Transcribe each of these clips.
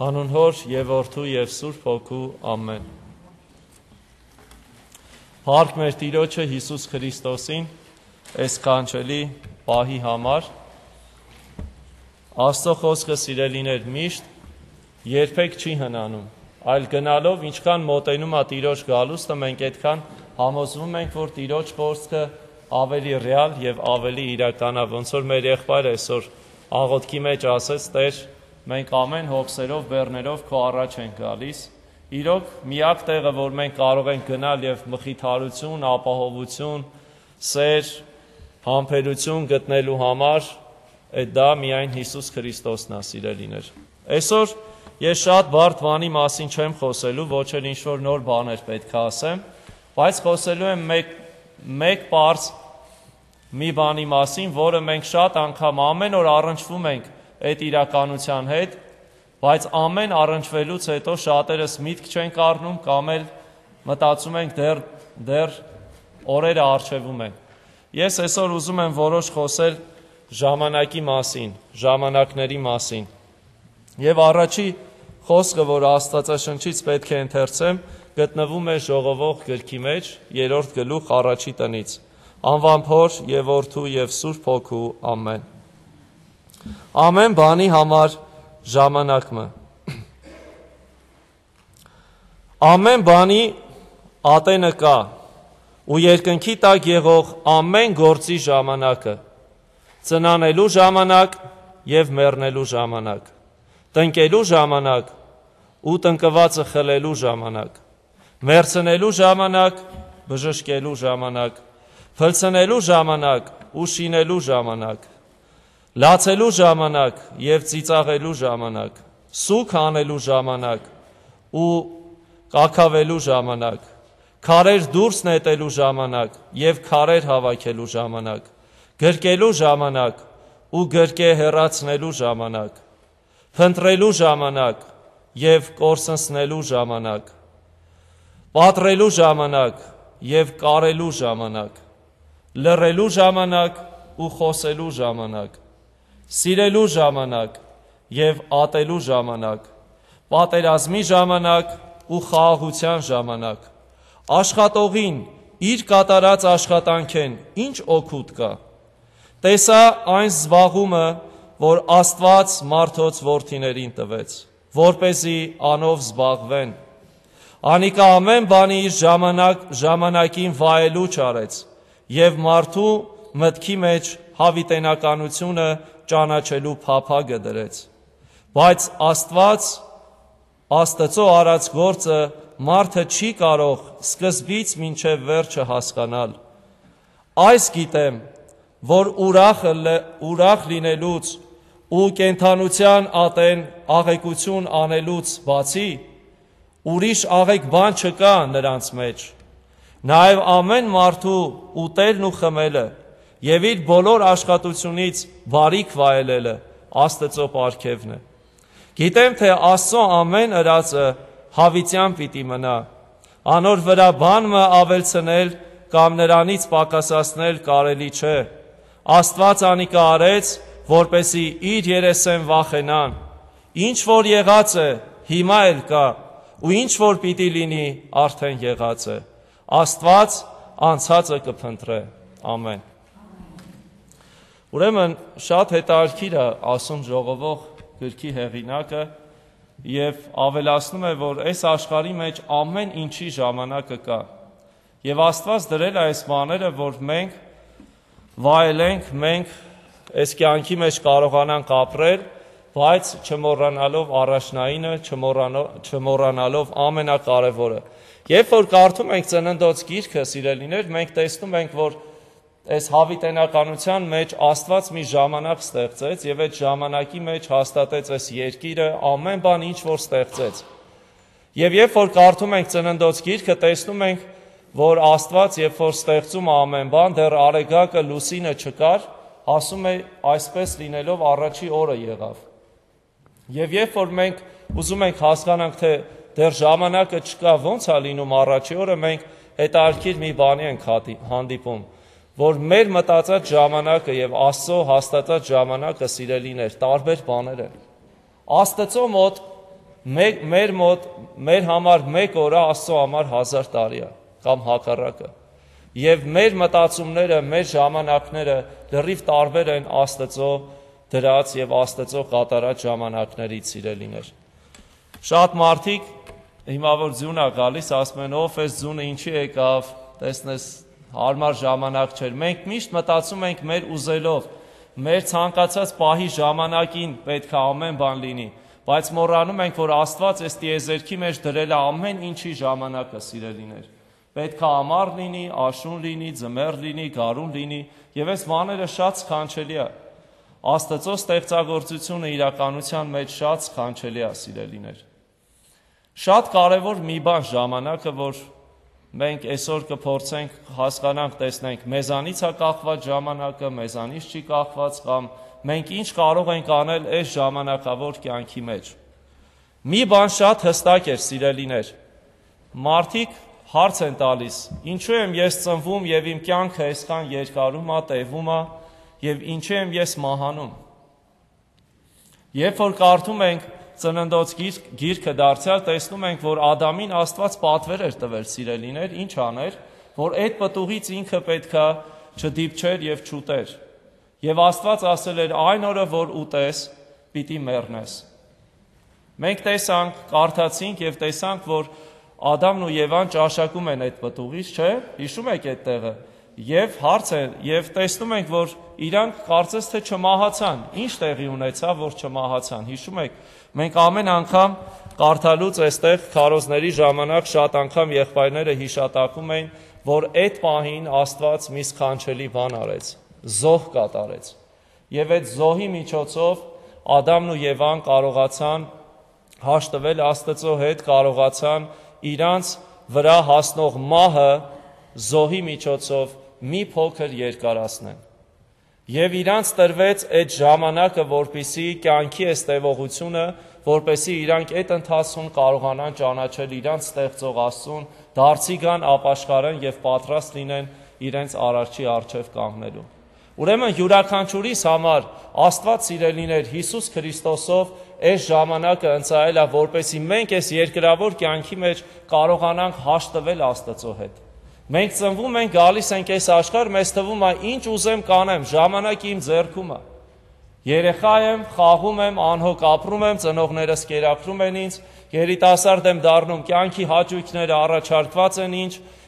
Հանուն Հոր և Որդու և Սուրբ Հոգու ամեն։ Փառք մեր Տիրոջը Հիսուս Քրիստոսին, այս կանչելի պահի համար։ Աստծո խոսքը սիրելիներ միշտ երբեք չի հնանում, այլ գնալով ինչքան մոտենում է Տիրոջ գալուստը, մենք այդքան համոզվում ենք, որ Տիրոջ խոսքը ավելի ռեալ եւ ավելի իրական է, ոնց որ մեր եղբայրը այսօր աղոթքի մեջ ասեց, Տեր, մենք ամեն հոգսերով, բեռներով քո առաջ ենք գալիս։ Իրոք միակ տեղը, որ մենք կարող ենք գնալ եւ մխիթարություն, ապահովություն, սեր, համբերություն գտնելու համար, այդ դա միայն Հիսուս Քրիստոսն է, սիրելիներ։ Այսօր ես շատ բարդ բանի մասին չեմ խոսելու, ոչ էլ ինչ-որ նոր բաներ պետք է ասեմ, բայց խոսելու եմ մեկ պարզ մի բանի մասին, որը մենք շատ անգամ ամեն օր առնչվում ենք այդ իրականության հետ, բայց ամեն առնչվելուց հետո շատերս միտք չենք առնում կամ էլ մտածում ենք դեռ օրերը առջևում են։ Ես այսօր ուզում եմ որոշ խոսել ժամանակի մասին, ժամանակների մասին։ Եվ առաջի խոսքը, որ Աստվածաշնչից պետք է ընթերցեմ, գտնվում է Ժողովող գրքի մեջ, 3-րդ գլուխ առաջի տնից։ Անվամբ Հոր և Որդու և Սուրբ Հոգու ամեն։ Ամեն բանի համար ժամանակը։ Ամեն բանի ատենը կա, ու երկնքի տակ եղող ամեն գործի ժամանակը, ծնանելու ժամանակ և մեռնելու ժամանակ, տնկելու ժամանակ ու տնկվածը խլելու ժամանակ, մեռցնելու ժամանակ, բժշկելու ժամանակ, փլցնելու ժամանակ ու շինելու ժամանակ, լացելու ժամանակ և ծիծաղելու ժամանակ, սուգ անելու ժամանակ ու կաքավելու ժամանակ, քարեր դուրս նետելու ժամանակ և քարեր հավաքելու ժամանակ, գրկելու ժամանակ ու գրկե հեռացնելու ժամանակ, փնտրելու ժամանակ և կորսնցնելու ժամանակ, պատռելու ժամանակ և կարելու ժամանակ, լռելու ժամանակ ու խոսելու ժամանակ, սիրելու ժամանակ և ատելու ժամանակ, պատերազմի ժամանակ ու խաղաղության ժամանակ, աշխատողին իր կատարած աշխատանքեն ինչ օգուտ կա, տեսա այն զբաղումը, որ Աստված մարդոց որդիներին տվեց, որպեսզի անով զբաղվեն, անիկա ամեն բանի իր ժամանակին վայելուչ արեց և մարդու մտքի մեջ հավիտենականությունը ճանաչելու փափագը դրեց, բայց Աստծո արած գործը մարդը չի կարող սկզբից մինչև վերջը հասկանալ։ Այս գիտեմ, որ ուրախ լինելուց ու կենդանության ատեն աղեկություն անելուց բացի, ուրիշ աղեկ բան չկա նրանց մեջ, նաև ամեն մարդու ուտելն ու խմելը և իր բոլոր աշխատությունից բարիք վայելելը Աստծո պարգևն է։ Գիտեմ, թե Աստծո ամեն ըրածը հավիտյան պիտի մնա, անոր վրա բան մը ավելցնել կամ նրանից պակասացնել կարելի չէ։ Աստված անիկա արեց, որպեսի իր երեսեն վախենան, ինչ որ եղած է, հիմա էլ կա, ու ինչ որ պիտի լինի, արդեն եղած է։ Աստված անցածը կփնտրե։ Ամեն։ Ուրեմն շատ հետաքրքիր է ասում Ժողովող գրքի հեղինակը եւ ավելացնում է, որ այս աշխարհի մեջ ամեն ինչի ժամանակը կա։ Եվ Աստված դրել է այս բաները, որ մենք վայելենք, մենք այս կյանքի մեջ կարողանանք ապրել, բայց չմոռանալով առաջնայինը, չմոռանալով ամենակարևորը։ Երբ որ կարդում ենք Ծննդոց գիրքը, սիրելիներ, մենք տեսնում ենք, որ այս հավիտենականության մեջ Աստված մի ժամանակ ստեղծեց եւ այդ ժամանակի մեջ հաստատեց այս երկիրը, ամեն բան ինչ որ ստեղծեց։ Եվ երբ որ կարդում ենք Ծննդոց գիրքը, տեսնում ենք, որ Աստված երբ որ ստեղծում է ամեն բան, դեռ արեգակը լուսինը չկար, ասում է այսպես լինելով առաջի օրը եղավ։ Եվ երբ որ մենք ուզում ենք հասկանանք, թե դեռ ժամանակը չկա, ո՞նց է լինում առաջի օրը, մենք հետաքրքիր մի բանի ենք հանդիպում, որ մեր մտածած ժամանակը եւ Աստծո հաստատած ժամանակը, սիրելիներ, տարբեր բաներ են։ Աստծո մոտ մեր համար 1 օրը Աստծո համար 1000 տարի է, կամ հակառակը։ Եվ մեր մտածումները, մեր ժամանակները լրիվ տարբեր են Աստծո դրած եւ Աստծո կատարած ժամանակներից, սիրելիներ։ Շատ մարդիկ հիմա որ ձյուն է գալիս, ասում են, ով էս ձյունը ինչի եկավ, տեսնես հարմար ժամանակ չէր։ Մենք միշտ մտածում ենք մեր ուզելով, մեր ցանկացած պահի ժամանակին պետք է ամեն բան լինի, բայց մոռանում ենք, որ Աստված այս տիեզերքի մեջ դրել է ամեն ինչի ժամանակը, սիրելիներ։ Պետք է ամառ լինի, աշուն լինի, ձմեռ լինի, գարուն լինի, եւ այս բաները շատ սքանչելի է։ Աստծո ստեղծագործությունը իրականության մեջ շատ սքանչելի է, սիրելիներ։ Շատ կարևոր մի բան ժամանակը, որ մենք այսօր կփորձենք հասկանանք, տեսնենք, մեզանից է կախված ժամանակը, մեզանից չի կախված, կամ մենք ինչ կարող ենք անել այս ժամանակավոր կյանքի մեջ։ Մի բան շատ հստակ էր, սիրելիներ։ Մարդիկ հարց են տալիս, ինչու եմ ես ծնվում եւ իմ կյանքը այսքան երկարում է, տևում է, եւ ինչու եմ ես մահանում։ Երբ որ կարդում ենք Ծննդոց գիրքը դարձյալ, տեսնում ենք, որ Ադամին Աստված պատվեր էր տվել, սիրելիներ, ինչ աներ, որ այդ պտուղից ինքը պետքա չդիպչեր եւ չուտեր։ Եվ Աստված ասել էր, այն օրը, որ ուտես, պիտի մեռնես։ Մենք տեսանք, կարդացինք եւ տեսանք, որ Ադամն ու Եվան ճաշակում են այդ պտուղից, չէ՞, հիշում եք այդ տեղը։ Եվ հարց է, եւ տեսնում ենք, որ իրանք կարծես թե չմահացան։ Ինչ տեղի ունեցավ, որ չմահացան։ Հիշում եք, մենք ամեն անգամ կարդալուց այստեղ քարոզների ժամանակ շատ անգամ եղբայրները հիշատակում էին, որ այդ պահին Աստված մի սքանչելի բան արեց, զոհ կատարեց։ Եվ այդ զոհի միջոցով Ադամն ու Եվան կարողացան հաշտվել Աստծո հետ, կարողացան իրանց վրա հասնող մահը զոհի միջոցով մի փոքր երկարացնեն։ Եվ իրանց տրվեց այդ ժամանակը, որպեսզի կյանքի այս տևողությունը, որպեսզի իրանք այդ ընթացքում կարողանան ճանաչել իրանց ստեղծող Աստծուն, դարձի գան, ապաշխարեն եւ պատրաստ լինեն իրենց արարչի առջև կանգնելու։ Ուրեմն յուրաքանչյուրիս համար Աստված սիրելիներ Հիսուս Քրիստոսով այս ժամանակը ընծայել է, որպեսզի մենք այս երկրավոր կյանքի մեջ կարողանանք հաշտվել Աստծո հետ։ Մենք ծնվում ենք, գալիս ենք այս աշխարհ, մեզ թվում է ինչ ուզեմ կանեմ, ժամանակը իմ ձեռքում է։ Երեխա եմ, խաղում եմ, անհոգ ապրում եմ, ծնողներս կերակրում են ինձ, երիտասարդ եմ դառնում, կյանքի հաճույքները առաջարկված են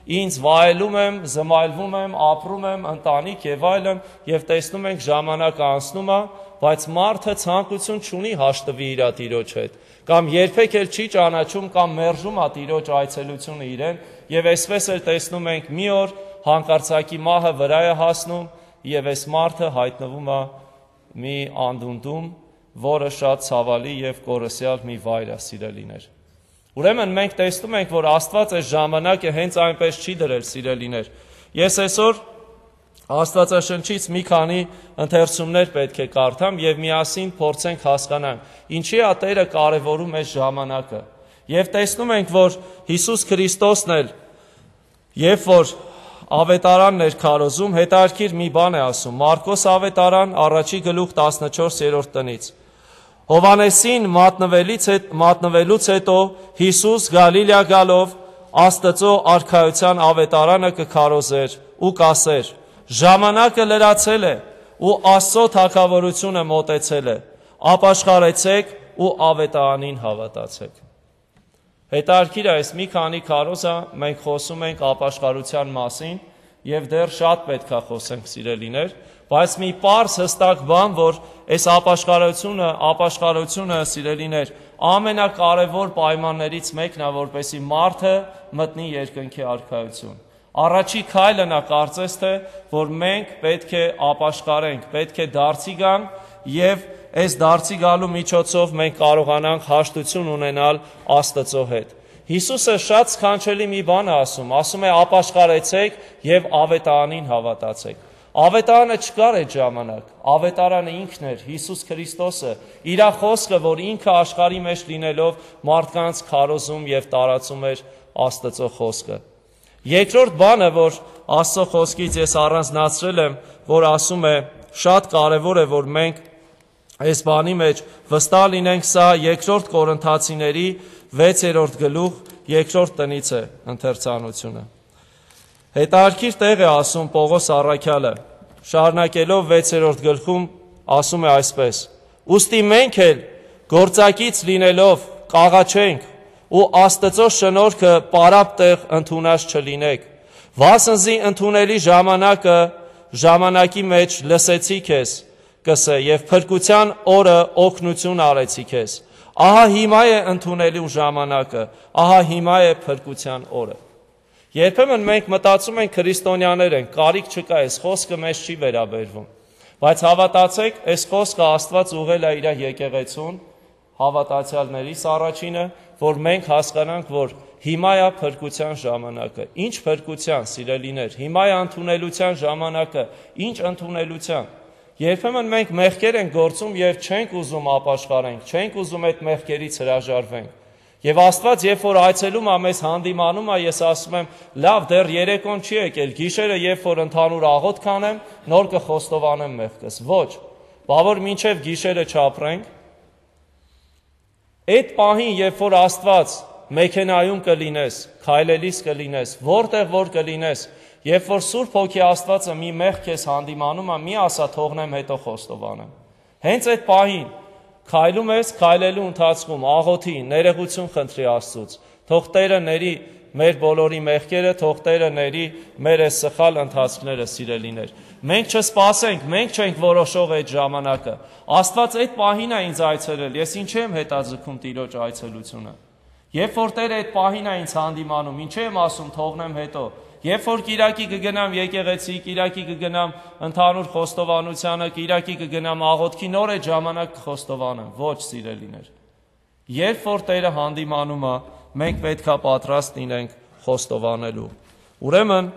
ինձ վայելում եմ, զմայլվում եմ, ապրում եմ, ընտանիք եւ այլն, եւ տեսնում ենք ժամանակը անցնում է, բայց մարդը ցանկություն չունի հաշտվի իր Տիրոջ հետ, կամ երբեք էլ չի ճանաչում կամ մերժում է Տիրոջ այցելությունը իրեն, եւ այսպես էլ տեսնում ենք մի օր հանկարծակի մահը վրա է հասնում եւ այս մարդը հայտնվում է մի անդունդում, որը շատ ցավալի եւ կորսյալ մի վայր է, սիրելիներ։ Ուրեմն մենք տեսնում ենք, որ Աստված այս ժամանակը հենց այնպես չի դրել, սիրելիներ։ Ես այսօր Աստվածաշնչից մի քանի ընթերցումներ պետք է կարդամ եւ միասին փորձենք հասկանանք, ինչի է Տերը կարևորում այս ժամանակը։ Եվ տեսնում ենք, որ Հիսուս Քրիստոսն էլ, երբ որ ավետարանն էր քարոզում, հետարքիր մի բան է ասում։ Մարկոս ավետարան 1:14 տնից։ Հովանեսին մատնվելուց հետո Հիսուս Գալիլեա գալով Աստծո արքայության ավետարանը կքարոզեր ու կասեր. ժամանակը լրացել է ու Աստծո թագավորությունը մոտեցել է, ապաշխարեցեք ու ավետարանին հավատացեք։ Հետարքիր այս մի քանի քարոզը մենք խոսում ենք ապաշխարության մասին եւ դեռ շատ պետք է խոսենք, սիրելիներ, բայց մի պարզ հստակ բան, որ այս ապաշխարությունը, սիրելիներ, ամենակարևոր պայմաններից մեկն է, որպեսզի մարդը մտնի երկնքի արքայություն։ Առաջի քայլը նա կարծես թե, որ մենք պետք է ապաշխարենք, պետք է դարձի գանք եւ այս դարձի գալու միջոցով մենք կարողանանք հաշտություն ունենալ Աստծո հետ։ Հիսուսը շատ սքանչելի մի բան է ասում է ապաշխարեցեք եւ ավետարանին հավատացեք։ Ավետարանը չկար այդ ժամանակ, ավետարանը ինքն էր, Հիսուս Քրիստոսը, իր խոսքը, որ ինքը աշխարհի մեջ լինելով մարդկանց քարոզում եւ տարածում էր Աստծո խոսքը։ Երկրորդ բանը, որ Աստծո խոսքից ես առանձնացրել եմ, որ ասում է շատ կարևոր է, որ մենք այս բանի մեջ վստահ լինենք, սա 2 Կորինթացիների 6-րդ գլուխ 2-րդ տնից է ընթերցանությունը։ Հետարքիր տեղ է ասում Պողոս առաքյալը, շարունակելով 6-րդ գլխում ասում է այսպես. «Ուստի մենք էլ գործակից լինելով կաղաչենք ու Աստծո շնորհքը պարապ տեղ ընդունած չլինեք, վասնզի ընդունելի ժամանակի մեջ լսեցի քեզ, կսե եւ փրկության օրը օգնություն արեցի քեզ։ Ահա հիմա է ընդունելու ժամանակը, ահա հիմա է փրկության օրը»։ Երբեմն մենք մտածում ենք քրիստոնյաներ ենք, կարիք չկա, այս խոսքը մեզ չի վերաբերվում։ Բայց հավատացեք, այս խոսքը Աստված ուղղել է իր եկեղեցուն, հավատացյալներից առաջինը, որ մենք հասկանանք, որ հիմա է փրկության ժամանակը։ Ինչ փրկության, սիրելիներ, հիմա է ընդունելության ժամանակը, ինչ ընդունելության։ Երբեմն մենք մեղքեր ենք գործում եւ չենք ուզում ապաշխարենք, չենք ուզում այդ մեղքերից հրաժարվենք։ Եվ Աստված, երբ որ այցելում է մեզ հանդիմանում է, ես ասում եմ, լավ, դեռ երեկոն չի եկել, գիշերը երբ որ ընդհանուր աղոթք անեմ, նոր կխոստովանեմ մեղքս։ Ոչ, բավոր մինչև գիշերը չապրենք։ Այդ պահին, երբ որ Աստված մեքենայում կլինես, քայլելիս կլինես, որտեղ որ կլինես, երբ որ Սուրբ Հոգի Աստվածը մի մեղք քեզ հանդիմանում է, մի ասա թողնեմ, հետո խոստովանեմ։ Հենց այդ պահին քայլում ես, քայլելու ընթացքում աղոթի, ներողություն խնդրի Աստծուց, թող Տերը ների մեր բոլորի մեղքերը, թող Տերը ների մեր այս սխալ ընթացքները, սիրելիներ։ Մենք չսպասենք, մենք չենք որոշող այդ ժամանակը։ Աստված այդ պահին է ինձ այցելել, ես ինչ եմ հետաձգում Տիրոջ այցելությունը։ Երբ որ Տերը այդ պահին է ինձ հանդիմանում, ինչ եմ ասում, թողնեմ հետո։ Երբ որ Կիրակի կգնամ եկեղեցի, Կիրակի կգնամ ընդհանուր խոստովանությանը, Կիրակի կգնամ աղոթքի, նոր այդ ժամանակ կխոստովանեմ։ Ոչ, սիրելիներ։ Երբ որ Տերը հանդիմանում է, մենք պետքա պատրաստ լինենք խոստովանելու։ Ուրեմն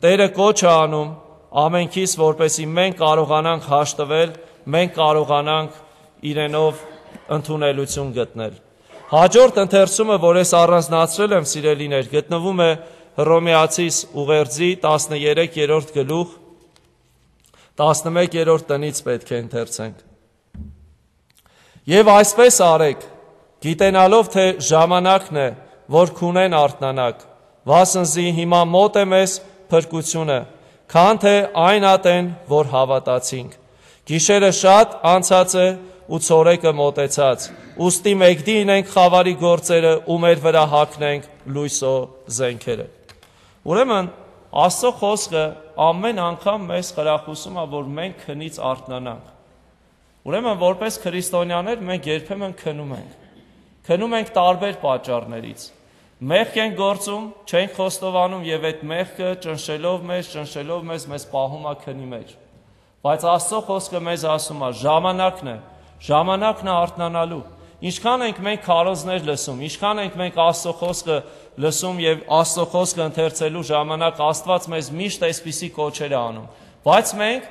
Տերը կոչ է անում ամենքից, որպեսզի մենք կարողանանք հաշտվել, մենք կարողանանք իրենով ընդունելություն գտնել։ Հաջորդ ընթերցումը, որ ես առանձնացրել եմ, սիրելիներ, գտնվում է Հռոմեացիս ուղերձի 13-րդ գլուխ 11-րդ տնից պետք է ընթերցենք։ Եվ այսպես արեք, գիտենալով, թե ժամանակն է, որ քունեն արթնանաք, վասնզի հիմա մոտ է մեզ փրկությունը, քան թե այն ատեն, որ հավատացինք։ Գիշերը շատ անցած է ու ցորեկը մոտեցած, ուստի մեկդին ենք խավարի գործերը ու մեր վրա հագնենք լույսո զենքերը։ Ուրեմն Աստծո խոսքը ամեն անգամ մեզ խրախուսում է, որ մենք քնից արթնանանք։ Ուրեմն որպես քրիստոնյաներ մենք երբեմն քնում ենք։ Քնում ենք տարբեր պատճառներից։ Մեղք ենք գործում, չենք խոստովանում եւ այդ մեղքը ճնշելով մեզ պահում է քնի մեջ։ Բայց Աստծո խոսքը մեզ ասում է, ժամանակն է արթնանալու։ Ինչքան ենք մենք քարոզներ լսում, ինչքան ենք մենք Աստծո խոսքը լսում եւ Աստծո խոսքը ընթերցելու ժամանակ Աստված մեզ միշտ այսպիսի կոչեր է անում։ Բայց մենք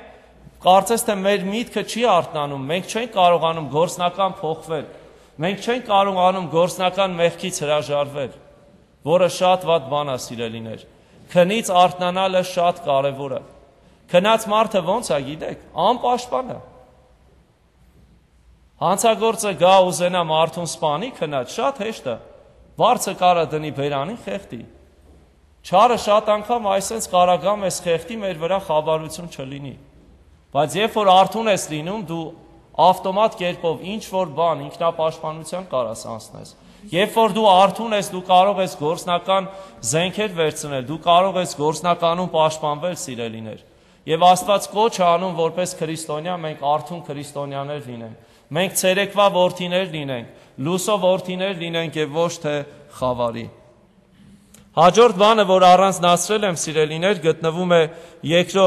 կարծես թե մեր միտքը չի արթնանում, մենք չենք կարողանում գործնական փոխվել, մենք չենք կարողանում գործնական մեղքից հրաժարվել, որը շատ վատ բան է, սիրելիներ։ Քնից արթնանալը շատ կարևոր է։ Քնած մարդը ո՞նց է, գիտեք, անպաշտպան է։ Հանցագործը գա ուզենա մարդուն սպանի, քնած շատ հեշտ է։ Վարձը կարա դնի բերանին, խեղդի։ Չարը շատ անգամ այսպես կարագամ ես խեղդի, մեր վրա խաբարություն չլինի։ Բայց երբ որ արթուն ես լինում, դու ավտոմատ կերպով ինչ որ բան ինքնապաշտպանության կարաս անցնես։ Երբ որ դու արթուն ես, դու կարող ես գործնական զենքեր վերցնել, դու կարող ես գործնականում պաշտպանվել, սիրելիներ։ Եվ Աստված կոչ է անում, որպես քրիստոնյա մենք արթուն քրիստոնյաներ լինենք։ Մենք ցերեկվա որդիներ լինենք, լուսո որդիներ լինենք եւ ոչ թե խավարի։ Հաջորդ բանը, որ առանձնացրել եմ, սիրելիներ, գտնվում է 2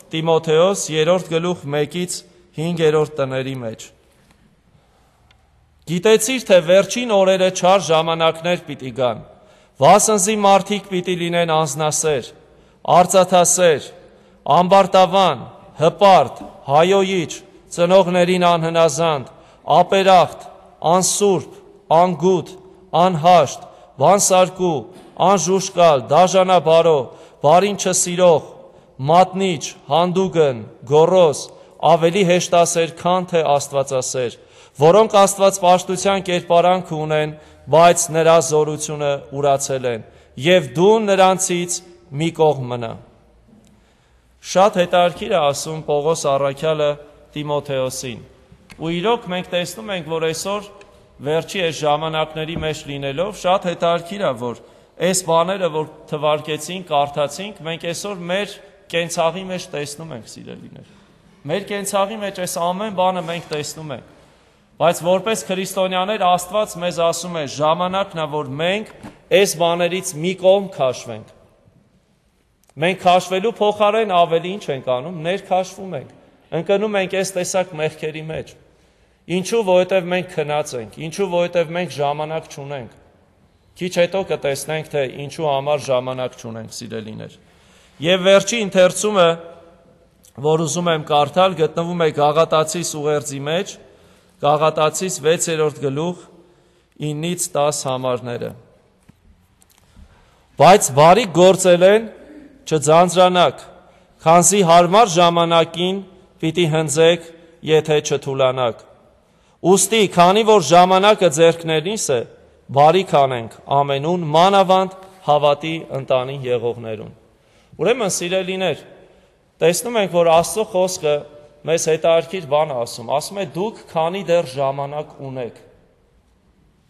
Տիմոթեոս 3 գլուխ 1-ից 5-րդ տների մեջ։ Գիտեցիր, թե վերջին օրերը չար ժամանակներ պիտի գան, վասնզի մարդիկ պիտի լինեն անձնասեր, արծաթասեր, ամբարտավան, հպարտ, հայոյիչ, ծնողներին անհնազանդ, ապերախտ, անսուրբ, անգութ, անհաշտ, բանսարկու, անժուշկալ, դաժանաբարո, բարին չսիրող, մատնիչ, հանդուգն, գոռոզ, ավելի հեշտասեր, քան թե աստվածասեր, որոնք Աստված պաշտության կերպարանք ունեն, բայց նրա զորությունը ուրացել են, եւ դու նրանցից մի կողմ մնա։ Շատ հետաքրքիր է ասում Պողոս առաքյալը Տիմոթեոսին, ու իրոք մենք տեսնում ենք, որ այսօր վերջի այս ժամանակների մեջ լինելով, շատ հետաքրքիր է, որ այս բաները, որ թվարկեցինք, կարդացինք, մենք այսօր մեր կենցաղի մեջ տեսնում ենք, սիրելիներ։ Մեր կենցաղի մեջ այս ամեն բանը մենք տեսնում ենք, բայց որպես քրիստոնյաներ Աստված մեզ ասում է, ժամանակն է, որ մենք այս բաներից մի կողմ քաշվենք։ Մենք քաշվելու փոխարեն ավելի ինչ ենք անում, ներքաշվում ենք, ընկնում ենք այս տեսակ մեղքերի մեջ։ Ինչու, որովհետև մենք քնած ենք, ինչու, որովհետև մենք ժամանակ չունենք։ Քիչ հետո կտեսնենք, թե ինչու համար ժամանակ չունենք, սիրելիներ։ Եվ վերջի ընթերցումը, որ ուզում եմ կարդալ, գտնվում է Գաղատացիս ուղերձի մեջ, Գաղատացիս 6-րդ գլուխ 9-ից 10 համարները։ Բայց բարիք գործել են, չձանձրանաք, քանզի հարմար ժամանակին պիտի հնձեք, եթե չթուլանաք։ Ուստի, քանի որ ժամանակը ձեռքներինս է, բարիք անենք ամենուն, մանավանդ հավատի ընտանի եղողներուն։ Ուրեմն, սիրելիներ, տեսնում ենք, որ Աստծո խոսքը մեզ հետաքրքիր բան ասում է դուք քանի դեռ ժամանակ ունեք։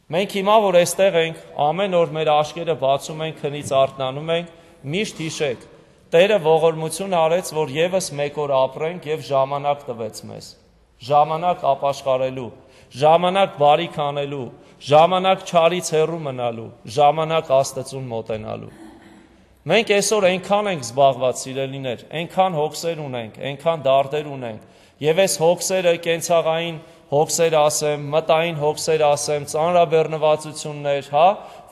Մենք հիմա, որ այստեղ ենք, ամեն օր մեր աչքերը բացում ենք, քնից արթնանում ենք, միշտ հիշեք, Տերը ողորմություն արեց, որ եւս մեկ օր ապրենք եւ ժամանակ տվեց մեզ։ Ժամանակ ապաշխարելու, ժամանակ բարիք անելու, ժամանակ չարից հեռու մնալու, ժամանակ Աստծուն մոտենալու։ Մենք այսօր այնքան ենք զբաղված, սիրելիներ, այնքան հոգսեր ունենք, այնքան դարդեր ունենք, եւ այս հոգսերը կենցաղային հոգսեր ասեմ, մտային հոգսեր ասեմ, ծանրաբեռնվածություններ,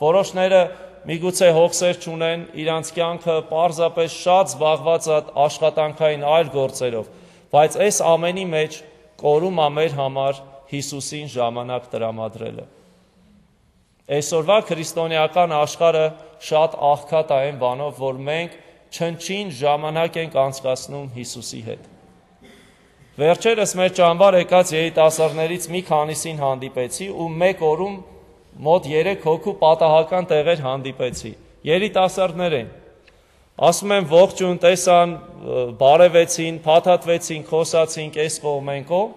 որոշները միգուցե հոգսեր չունեն, իրանց կյանքը պարզապես շատ զբաղված է աշխատանքային այլ գործերով, բայց այս ամենի մեջ կորում է մեր համար Հիսուսին ժամանակ տրամադրելը։ Այսօրվա քրիստոնեական աշխարհը շատ աղքատ է այն բանով, որ մենք չնչին ժամանակ ենք անցկացնում Հիսուսի հետ։ Վերջերս մեր ճամբար եկած երիտասարդներից մի քանիսին հանդիպեցի ու մեկ օրում մոտ 3 հոգու պատահական տեղեր հանդիպեցի, երիտասարդներ են, ասում եմ ողջուն, տեսան, բարևեցին, փաթաթվեցին, խոսացինք, այս կողմ են կողմ,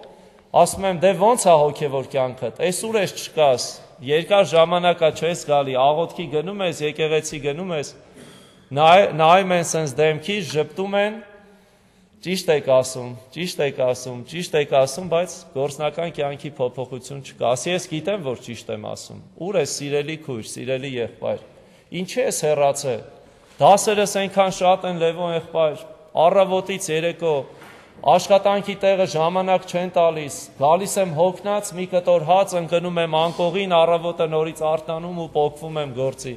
ասում եմ դե ոնց է հոգևոր կյանքդ, այս ուր ես չկաս, երկար ժամանակա չես գալի, աղոթքի գնում ես, եկեղեցի գնում ես, նայում են սենց դեմքից, ժպտում են, ճիշտ եք ասում, բայց գործնական կյանքի փոփոխություն չկա։ Ասի ես գիտեմ, որ ճիշտ եմ ասում։ Ուր ես սիրելի քույր, սիրելի եղբայր։ Ինչի ես հեռացել։ Դասերս այնքան շատ են, Լևոն եղբայր, առավոտից երեկո, աշխատանքի տեղը ժամանակ չեն տալիս, գալիս եմ հոգնած, մի կտոր հաց ընկնում եմ անկողին, առավոտը նորից արթնանում ու պոկվում եմ գործի։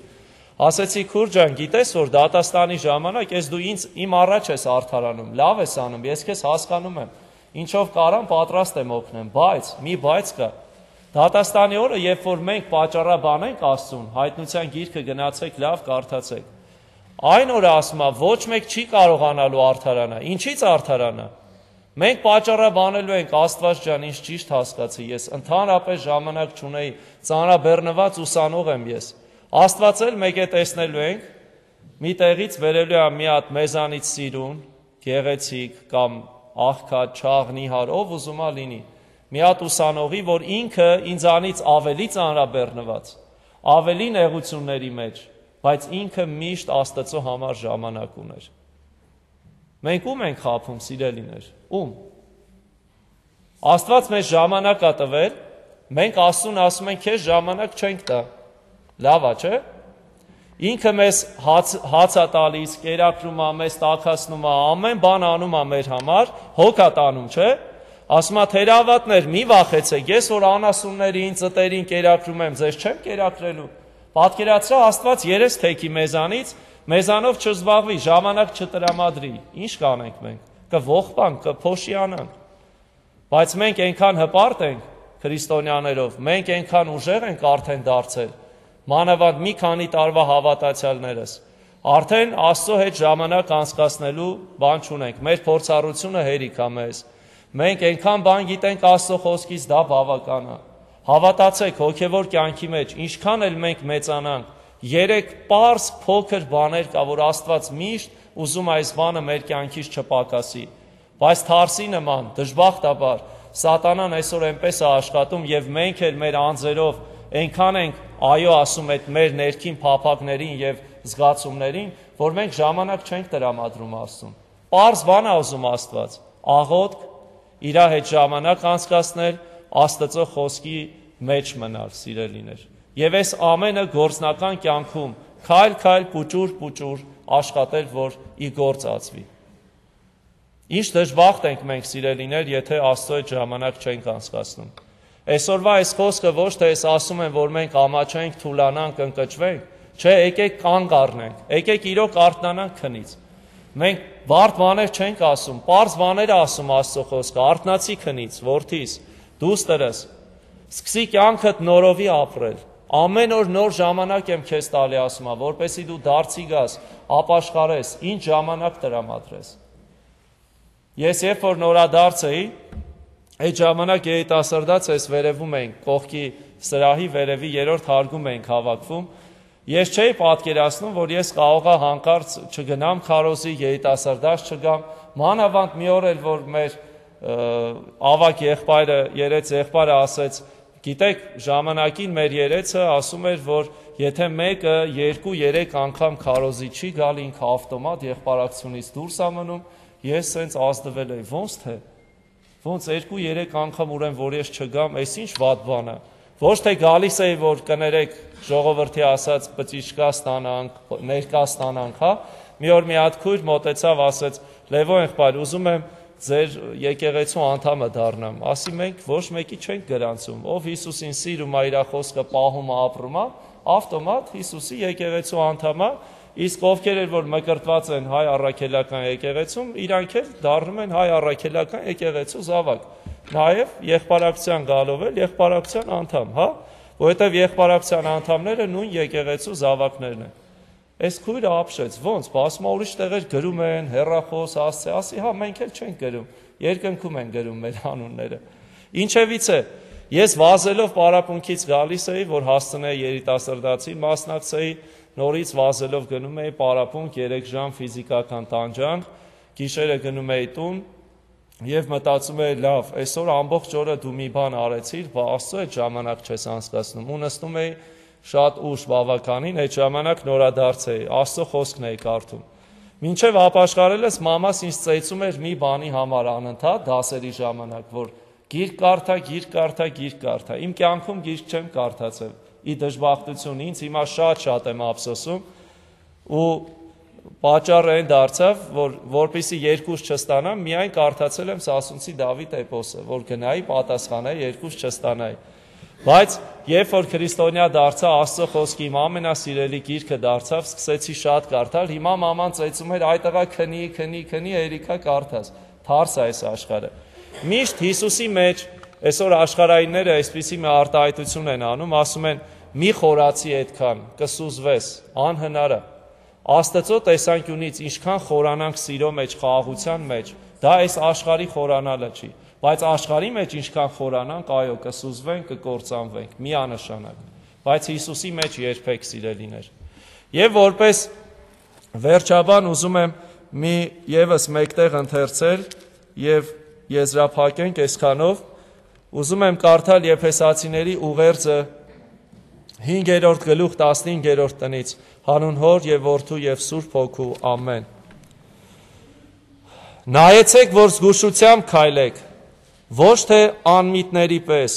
Ասեցի քուր ջան, գիտես որ դատաստանի ժամանակ ես դու իմ առաջ ես արդարանում, լավ ես անում, ես քեզ հասկանում եմ, ինչով կարամ պատրաստ եմ օգնեմ, բայց մի բայց կա։ Դատաստանի օրը, երբ որ մենք պատճառաբան ենք Աստծուն, հայտնության գիրքը գնացեք, լավ կարդացեք։ Այն օրը ասում է, ոչ մեկ չի կարողանալու արդարանալ։ Ինչից արդարանա։ Մենք պատճառաբանելու ենք Աստված ջան, ինչ ճիշտ հասկացի, ես ընդհանրապես ժամանակ չունեի, ծանրաբեռնված ուսանող եմ ես։ Աստված էլ մեկ է տեսնելու ենք, մի տեղից վերելու է մի հատ մեզանից սիրուն, գեղեցիկ կամ աղքատ, չաղ, նիհար, ով ուզում է լինի, մի հատ ուսանողի, որ ինքը ինձանից ավելի ծանրաբեռնված, ավելի նեղությունների մեջ, բայց ինքը միշտ Աստծո համար ժամանակ ուներ։ Մենք ում ենք խաբում, սիրելիներ, ում։ Աստված մեզ ժամանակ է տվել, մենք Աստծուն ասում ենք, քեզ ժամանակ չենք տա։ Լավ է, չէ՞։ Ինքը մեզ հաց է տալիս, կերակրում է, մեզ տաքացնում է, ամեն բան անում է մեր համար, հոգ է տանում, չէ՞։ Ասում է թերավատներ, մի վախեցեք, ես որ անասուններին, ծտերին կերակրում եմ, ձեզ չեմ կերակրելու։ Պատկերացրա Աստված երես թեքի մեզանից, մեզանով չզբաղվի, ժամանակ չտրամադրի։ Ինչ կանենք մենք։ Կողբանք, կփոշիանանք։ Բայց մենք այնքան հպարտ ենք քրիստոնյաներով, մենք այնքան ուժեղ ենք արդեն դարձել, մանավանդ մի քանի տարվա հավատացյալներս, արդեն Աստծո հետ ժամանակ անցկացնելու բան չունենք, մեր փորձառությունը հերիք է մեզ, Մենք այնքան բան գիտենք Աստծո խոսքից, դա բավական է։ Հավատացեք, հոգևոր կյանքի մեջ, ինչքան էլ մենք մեծանանք, 3 պարզ փոքր բաներ կա, որ Աստված միշտ ուզում այս բանը մեր կյանքից չպակասի։ Բայց Թարսի նման, դժբախտաբար, Սատանան այսօր այնպես է աշխատում եւ մենք էլ մեր անձերով այնքան ենք այո ասում այդ մեր ներքին փափակներին եւ զգացումներին, որ մենք ժամանակ չենք տրամադրում Աստծուն։ Պարզ բան է ուզում Աստված, աղոթք, իր հետ ժամանակ անցկացնել, Աստծո խոսքի մեջ մնալ, սիրելիներ։ Եվ այս ամենը գործնական կյանքում քայլ-քայլ, պուճուր աշխատել, որ ի գործ ածվի։ Ինչ դժբախտ ենք մենք, սիրելիներ, եթե Աստծո հետ ժամանակ չենք անցկացնում։ Այսօրվա այս խոսքը ոչ թե ես ասում եմ, որ մենք ամաչենք, թուլանանք, ընկճվենք, չէ, եկեք կանգ առնենք, եկեք իրոք արթնանանք քնից։ Մենք բարդ բաներ չենք ասում, պարզ բաներ ասում Աստծո խոսքը, արթնացի քնից, որդիս, դուստերս, սկսի կյանքդ նորովի ապրել։ Ամեն օր նոր ժամանակ եմ քեզ տալի, ասում եմ, որպեսզի դու դարձի գաս, ապաշխարես, ինչ ժամանակ տրամադրես։ Ես երբ որ նորադարձ էի, այդ ժամանակ երիտասարդաց ես վերևում էինք, կողքի սրահի վերևի 3-րդ հարկում էինք հավաքվում։ Ես չէի պատկերացնում, որ ես կարողա հանկարծ չգնամ քարոզի, երիտասարդաց չգամ, մանավանդ մի օր էլ, որ մեր ավակ եղբայրը, երեց եղբայրը ասեց, գիտեք, ժամանակին մեր երեցը ասում էր, որ եթե մեկը 2-3 անգամ քարոզի չի գալի, ինքը ավտոմատ եղբայրակցությունից դուրս է մնում, ես սենց ազդվել էի, ոնց թե, ոնց 2-3 անգամ ուրեմն, որ ես չգամ, այս ինչ վատ բան է, ոչ թե գալիս էի, որ կներեք ժողովրդի ասած բծիչկա ստանանք, ներկա ստանանք, հա, մի օր մի հատ քույր մոտեցավ, ասեց, Լևո եղբայր, ուզում եմ ձեր եկեղեցու անդամը դառնամ, ասի մենք ոչ մեկի չենք գրանցում, ով Հիսուսին սիրում է, իր խոսքը պահում է, ապրում է, ավտոմատ Հիսուսի եկեղեցու անդամ է, իսկ ովքեր էլ որ մկրտված են հայ առաքելական եկեղեցում, իրանք էլ դառնում են հայ առաքելական եկեղեցու զավակ, նաև եղբայրակցության գալով էլ եղբայրակցության անդամ, հա, որովհետև եղբայրակցության անդամները նույն եկեղեցու զավակներն են։ Այս քույրը ապշեց, ոնց, ասում ուրիշ տեղեր գրում են, հեռախոս, ասի, հա, մենք էլ չենք գրում, երկնքում են գրում մեր անունները։ Ինչևից է, ես վազելով պարապմունքից գալիս էի, որ հասցնեի երիտասարդացի, մասնակցեի, նորից վազելով գնում էի պարապմունք 3 ժամ ֆիզիկական տանջանք, գիշերը գնում էի տուն եւ մտածում էի, լավ, այսօր ամբողջ օրը դու մի բան արեցիր, բա Աստծո հետ ժամանակ չես անցկացնում, ու նստում էի շատ ուշ բավականին, այդ ժամանակ նորադարձ էի, Աստծո խոսքն էի կարդում։ Մինչև ապաշխարելս մամաս ինձ ծեծում էր մի բանի համար անընդհատ դասերի ժամանակ, որ գիրք կարդա։ Իմ կյանքում գիրք չեմ կարդացել, ի դժբախտություն ինձ, հիմա շատ եմ ափսոսում ու պատճառը այն դարձավ, որ որպեսզի երկուս չստանամ, միայն կարդացել եմ Սասունցի Դավիթ էպոսը, որ գնայի պատասխանայի, երկուս չստանայի։ Բայց երբ որ քրիստոնյա դարձա, Աստծո խոսքի իմ ամենասիրելի գիրքը դարձավ, սկսեցի շատ կարդալ, հիմա մաման ծեծում էր, այ տղա քնի, երիքա կարդաս, թարս է այս աշխարհը։ Միշտ Հիսուսի մեջ, այսօր աշխարհայինները այսպիսի մի արտահայտություն են անում, ասում են, մի խորացի այդքան, կսուզվես, անհնար է։ Աստծո տեսանկյունից ինչքան խորանանք սիրո մեջ, խաղաղության մեջ, դա այս աշխարհի խորանալը չի, բայց աշխարհի մեջ ինչքան խորանանք, այո, կսուզվենք, կկործանվենք, միանշանակ, բայց Հիսուսի մեջ երբեք, սիրելիներ։ Եվ որպես վերջաբան ուզում եմ մի եւս մեկտեղ ընթերցել եւ եզրափակենք այսքանով, ուզում եմ կարդալ Եփեսացիների ուղերձը 5-րդ գլուխ 15-րդ տնից, հանուն Հոր եւ Որդու եւ Սուրբ Հոգու, ամեն։ Նայեցեք, որ զգուշությամբ քայլեք, ոչ թե անմիտների պես,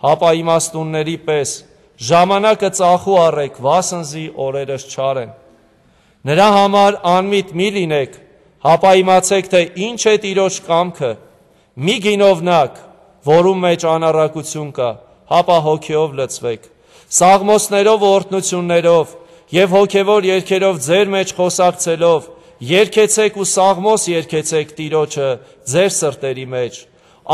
հապա իմաստունների պես, ժամանակը ծախու առեք, վասնզի օրերս չար են։ Նրա համար անմիտ մի լինեք, հապա իմացեք, թե ինչ է Տիրոջ կամքը, մի գինովնակ, որում մեջ անառակություն կա, հապա հոգեով լցվեք, սաղմոսներով ու օրհնություններով եւ հոգեվոր երգերով ձեր մեջ խոսակցելով, երգեցեք ու սաղմոս երգեցեք Տիրոջը ձեր սրտերի մեջ,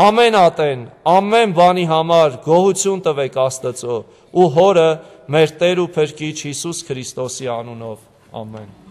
ամեն ատեն, ամեն բանի համար գոհություն տվեք Աստծո ու Հորը մեր Տեր ու Փրկիչ Հիսուս Քրիստոսի անունով, ամեն։